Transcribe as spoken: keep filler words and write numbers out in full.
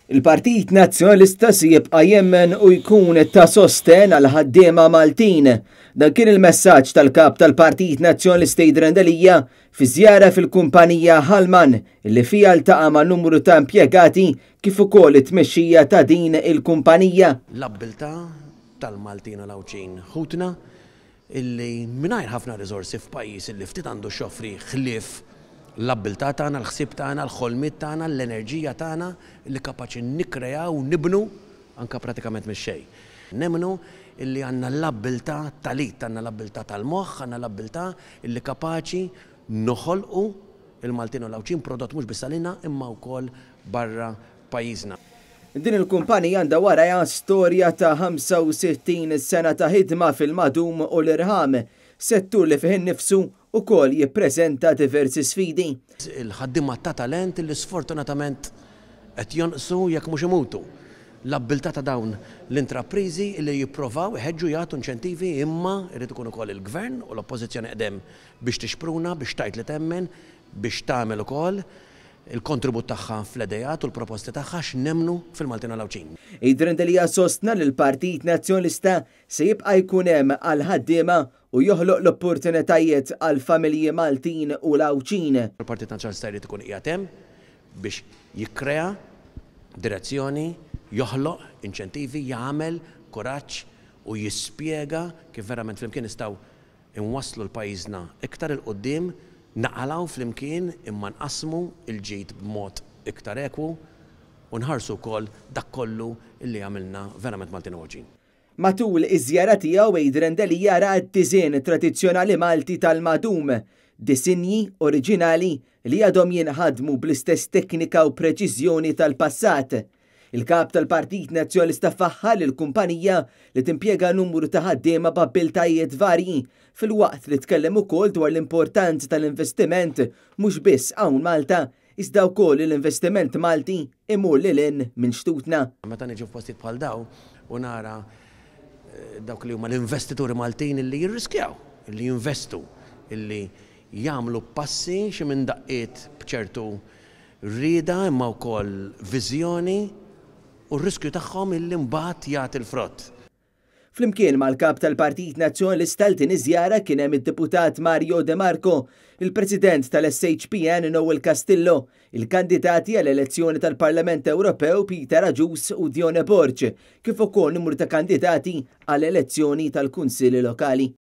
Il-Partit Nazzjonalista se jibqa' jemmen u jkun ta' sosten għal ħaddiema Maltin. Dan kien il-messaġġ tal-kap tal-Partit Nazzjonalista Adrian Delia fi żjara fil-kumpanija Halman, li fiha ltaqa' ma' numru ta' impjegati kif ukoll it-tmexxija ta' din il-kumpanija. L-abbiltà tal-Maltin u l-Għawdxin ħutna illi mingħajr ħafna riżorsi, f'pajjiż illi ftit għandu x'joffri ħlief l-abbiltà tagħna, l-ħsieb tagħna, l-ħolmiet tagħna, l-enerġija tagħna li kapaċi nikkrejaw u nibnu anka pratikament mix-xejn. Nemmnu illi għandna l-abbiltà tal-id, għandna l-abbiltà tal-moħħ, għandna l-abbiltà illi kapaċi noħolqu il-Maltin u l-Għawdxin prodott mhux biss għalina imma wkoll barra pajjiżna. Din il-kumpanija għandha warajha storja ta' ħamsa u sittin sena ta' ħidma fil-madum u l-irħam, settur li fih innifsu ukoll jippreżenta diversi sfidi. Il-ħaddiema ta' talent li sfortunatament qed jonqsu, jekk mhux imutu. L-abbiltà ta' dawn l-intraprizi li jipprovaw iħeġġu, jagħtu inċentivi, imma jrid ikun ukoll il-gvern u l-oppożizzjoni qdem biex tixpruna, biex tgħid li temmen, biex tagħmel ukoll il-kontribut tagħha fl-idejat u l-proposti tagħha, x'nemmnu fil-Maltin u l-Għawdxin. Adrian Delia sostna li l-Partit Nazzjonalista se jibqa' jkun hemm għal ħaddiema u joħloq l-opportunitajiet għal familji Maltin u l-Għawdxin. Il-Partit Nazzjonalista jrid ikun qiegħed hemm biex jikkrea direzzjoni, joħloq inċentivi, jagħmel kuraġġ u jispjega kif verament flimkien nistgħu inwasslu l-pajjiżna iktar 'il quddiem, naqalgħu flimkien imma nqasmu il-ġid b'mod iktar ekwu u nħarsu wkoll dak kollu illi għamilna verament Maltin u Għawdxin. Matul iż-żjara tiegħu, Adrian Delia ra d-diżin tradizzjonali Malti tal-madum, disinji oriġinali li għadhom jinħadmu bl-istess teknika u preċiżjoni tal-passat. Il-kap tal-Partit Nazzjonalista faħħar il-kumpanija li timpjega numru ta' ħaddiema b'abbiltajiet varji, filwaqt li tkellem ukoll dwar l-importanza tal-investiment mhux biss hawn Malta, iżda wkoll l-investiment Malti imur lil hinn minn xtutna. Meta niġu f'postijiet bħal daw u nara eh, dawk li huma l-investituri Maltin illi jirriskjaw, illi jinvestu, illi jagħmlu passi xi minn daqqiet b'ċertu rieda imma wkoll viżjoni u r-riskju tagħhom illi mbagħad jagħti l-frott. Flimkien mal-kap tal-Partit Nazzjonalista għal din iż-żjara kien hemm id-deputat Mario De Marco, il-President tal-S H P N Noel Castillo, il-kandidati għall-elezzjoni tal-Parlament Ewropew Peter Agius u Dione Borg, kif ukoll numru ta' kandidati għall-elezzjoni tal-Kunsilli Lokali.